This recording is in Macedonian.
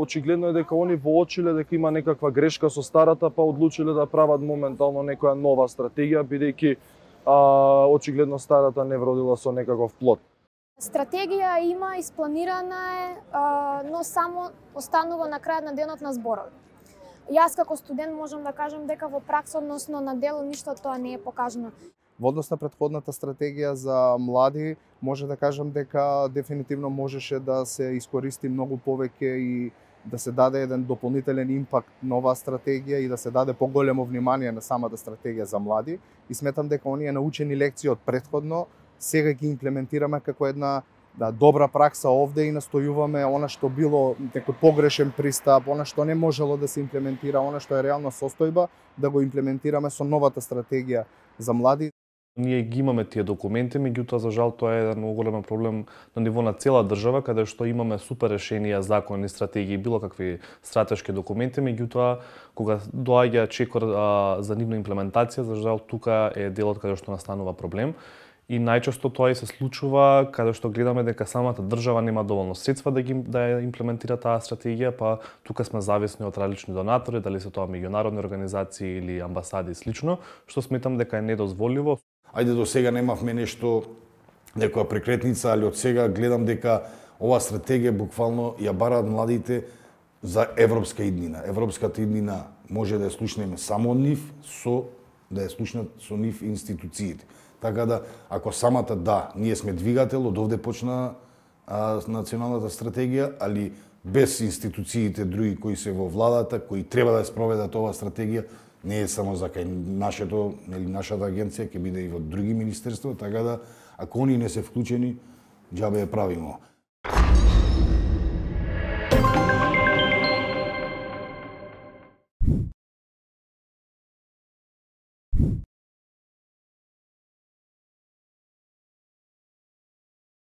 очигледно е дека они воочиле дека има некаква грешка со старата, па одлучиле да прават моментално некоја нова стратегија, бидејќи очигледно старата не вродила со некаков плод. Стратегија има, испланирана е, но само останува на крајот на денот на зборови. Јас како студент можам да кажам дека во пракса, односно на дело, ништо тоа не е покажано. Во однос на претходната стратегија за млади, може да кажам дека дефинитивно можеше да се искористи многу повеќе и да се даде еден дополнителен импакт на оваа стратегија и да се даде поголемо внимание на самата стратегија за млади. И сметам дека оние научени лекции од претходно сега ги имплементираме како една добра пракса овде и настојуваме она што било некој погрешен пристап, она што не можело да се имплементира, она што е реална состојба, да го имплементираме со новата стратегија за млади. Ние ги имаме тие документи, меѓутоа за жал тоа е еден многу голем проблем на ниво на цела држава, каде што имаме супер решенија, закони, стратегии, било какви стратешки документи, меѓутоа кога доаѓа чекор за нивна имплементација, за жал тука е делот каде што настанува проблем. И најчесто тоа и се случува каде што гледаме дека самата држава нема доволно средства да ја имплементира таа стратегија, па тука сме зависни од различни донатори, дали се тоа меѓународни организации или амбасади и слично, што сметам дека е недозволиво. Ајде, до сега немавме нешто, некоја прекретница, али од сега гледам дека оваа стратегија буквално ја бараат младите за европска иднина. Европската иднина може да ја слушнеме само од нив, да ја слушнат со нив институциите. Така да, ако самата ние сме двигател, од овде почна националната стратегија, али без институциите други кои се во владата, кои треба да ја спроведат оваа стратегија, не е само за кај нашата агенција, ќе биде и во други министерства, така да, ако они не се вклучени, џабе ја правимо.